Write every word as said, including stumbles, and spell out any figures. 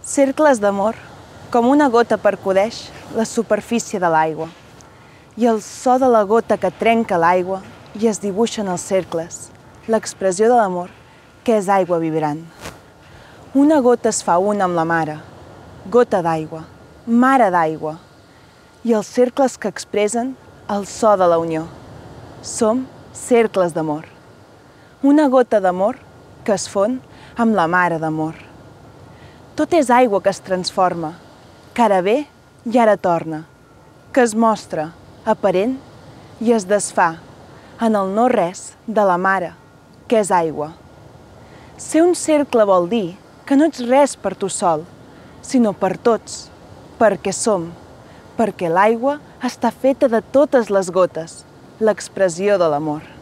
Cercles d'amor, com una gota percudeix la superfície de l'aigua i el so de la gota que trenca l'aigua i es dibuixen els cercles, l'expressió de l'amor, que és aigua vibrant. Una gota es fa una amb la mare, gota d'aigua, mare d'aigua, i els cercles que expressen el so de la unió. Som cercles d'amor. Una gota d'amor que es fon amb la mare d'amor. Tot és aigua que es transforma, que ara ve i ara torna, que es mostra, aparent, i es desfà en el no-res de la mare, que és aigua. Ser un cercle vol dir que no ets res per tu sol, sinó per tots, perquè som, perquè l'aigua està feta de totes les gotes, l'expressió de l'amor.